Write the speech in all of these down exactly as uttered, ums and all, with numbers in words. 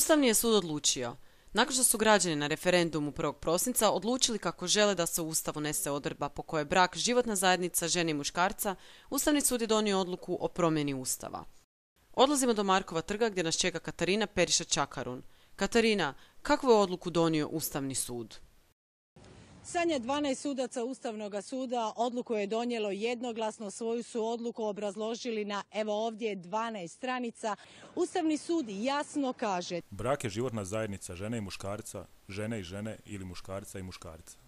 Ustavni je sud odlučio. Nakon što su građani na referendumu prvog prosinca odlučili kako žele da se u Ustav unese odredba po kojoj je brak životna zajednica žene i muškarca, Ustavni sud je donio odluku o promjeni Ustava. Odlazimo do Markova trga gdje nas čeka Katarina Periša-Čakarun. Katarina, kakvu je odluku donio Ustavni sud? Sanja, dvanaest sudaca Ustavnog suda odluku je donijelo jednoglasno, svoju su odluku obrazložili na, evo ovdje, dvanaest stranica. Ustavni sud jasno kaže: brak je životna zajednica žene i muškarca, žene i žene ili muškarca i muškarca.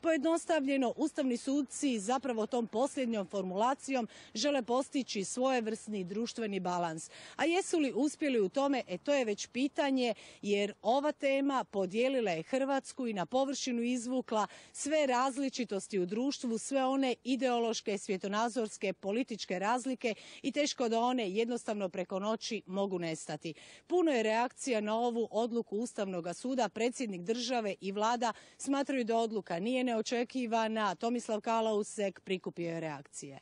Pojednostavljeno, ustavni sudci zapravo tom posljednjom formulacijom žele postići svojevrsni društveni balans. A jesu li uspjeli u tome? E to je već pitanje, jer ova tema podijelila je Hrvatsku i na površinu izvukla sve različitosti u društvu, sve one ideološke, svjetonazorske, političke razlike i teško da one jednostavno preko noći mogu nestati. Puno je reakcija na ovu odluku Ustavnog suda. Predsjednik države i vlada smatraju da odluka nije neočekivana. Tomislav Kalausek prikupio je reakcije.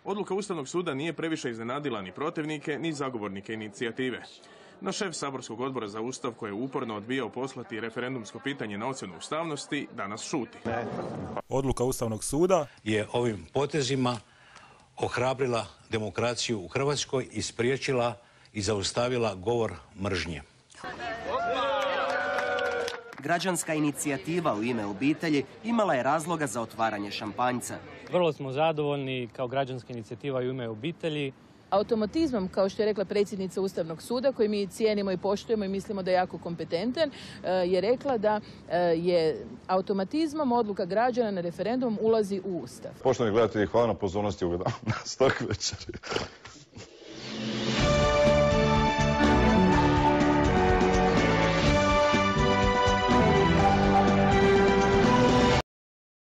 Odluka Ustavnog suda nije previše iznenadila ni protivnike, ni zagovornike inicijative. No šef saborskog odbora za Ustav, koji je uporno odbijao poslati referendumsko pitanje na ocjenu ustavnosti, danas šuti. Odluka Ustavnog suda je ovim potezima ohrabrila demokraciju u Hrvatskoj i spriječila i zaustavila govor mržnje. Građanska inicijativa U ime obitelji imala je razloga za otvaranje šampanjca. Vrlo smo zadovoljni kao građanska inicijativa U ime obitelji. Automatizmom, kao što je rekla predsjednica Ustavnog suda, koji mi cijenimo i poštujemo i mislimo da je jako kompetentan, je rekla da je automatizmom odluka građana na referendum ulazi u Ustav. Poštovani gledatelji, hvala na pozornosti, ugledam na stok večeri.